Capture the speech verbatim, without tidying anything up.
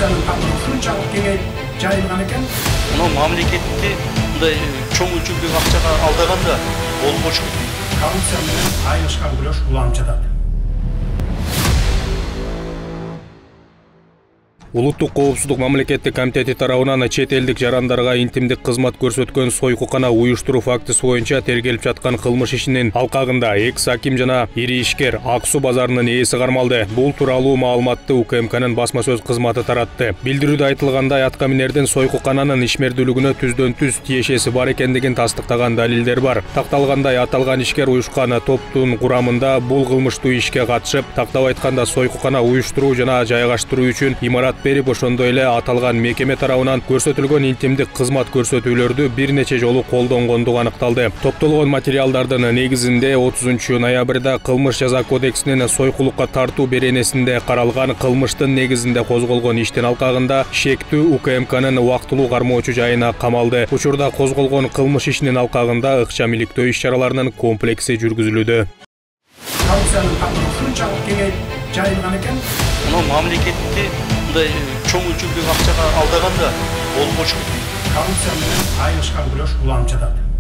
коррупциянын камыры ушунчалык кеңейип жайылган экен. Мына мамлекетти мындай чоң өлчөмдөгү акчага алдаганда болбошу. Коррупция менен айылышкан күрөш уланып жатат. Улуттук коопсуздук мамлекеттик комитети тарабынан чет элдик жарандарга интимдик кызмат көрсөткөн сойкукана уюштуруу фактысы боюнча тергелип жаткан кылмыш ишинин алкагында экс аким жана ири ишкер Ак Суу базарынын ээси кармалды. Бул тууралуу маалыматты У К М К'нын басма сөз кызматы таратты. Билдирүүдө айтылгандай, аткаминердин сойкукананын ишмердүүлүгүнө түздөн түз тиешеси бар экендигин тастыктаган далилдер бар. Такталгандай, аталган ишкер уюшкан топтун курамында бул кылмыштуу ишке катышып, тактап айтканда сойкукана уюштуруу жана жайгаштыруу үчүн имарат берип, ошондой эле аталган мекеме тарабынан көрсөтүлгөн интимдик кызмат көрсөтүүлөрдү бир нече жолу колдонгондугу аныкталды. Топтолгон материалдардын негизинде отузунчу ноябрда Кылмыш жаза кодексинин сойкулукка тартуу беренесинде каралган кылмыштын негизинде козголгон иштин алкагында шектүү У К М К'нын убактылуу кармоочу жайына камалды. Учурда козголгон кылмыш ишинин алкагында ыкчам иликтөө иш-чараларынын комплекси жүргүзүлүүдө. Коррупциянын камыры ушунчалык кеңейип жайылган экен. Мына мамлекетти мындай чоң өлчөмдөгү акчага алдаганда болбошу. Коррупция менен айылышкан күрөш уланып жатат.